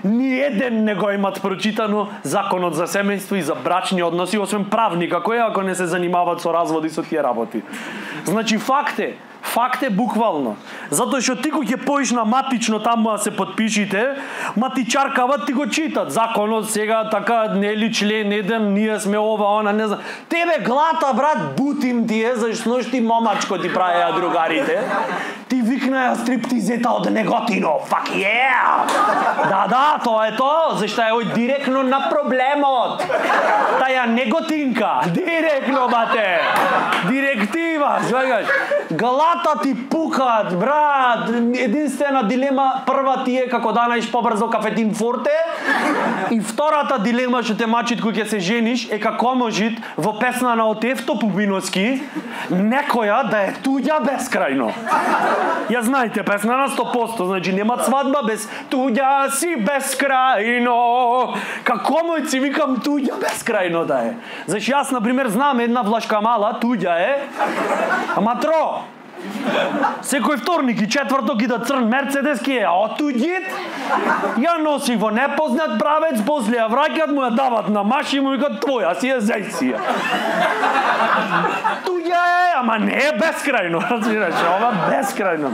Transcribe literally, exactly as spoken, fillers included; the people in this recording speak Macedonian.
Ни еден не го имат прочитано законот за семејство и за брачни односи, освен правника, кој ако не се занимаваат со разводи со тие работи. Значи факт е, факт е буквално. Затоа што ти кој ќе поиш на матично таму да се подпишите, матичаркават ти го читат. Законот сега така нели член еден, ние сме ова, она, не знам. Тебе глата, брат, бутим ти е, зашто ти момачко ти правеа другарите. Ти викнаја стриптизета од Неготино. Fuck yeah! Да, да, тоа е тоа, зашто е ој директно на проблемот. Таја Неготинка, директно, бате. Директива, свегаш. Глата ти пукаат, брат. Единствена дилема, прва ти е како да најдеш побрзо кафетин форте, и втората дилема што те мачит кој ќе се жениш е како можит во песна на Отефто Пупиновски некоја да е туѓа бескрајно. Ја знаете песна на сто проценти, значи нема свадба без туѓа си бескрајно. Како мој си викам туѓа бескрајно да е. Значи јас на пример знам една влашка мала, туѓа е. Ама тро. Секој вторник и четврток ида црн Мерцедес ки е отуѓит. Ја носи во непознат правец, после ја враќат, му ја дават на маш и му викат твоја си е, зеј си ја. Туѓа е, ама не е бескрајно, разбираш, ова бескрајно.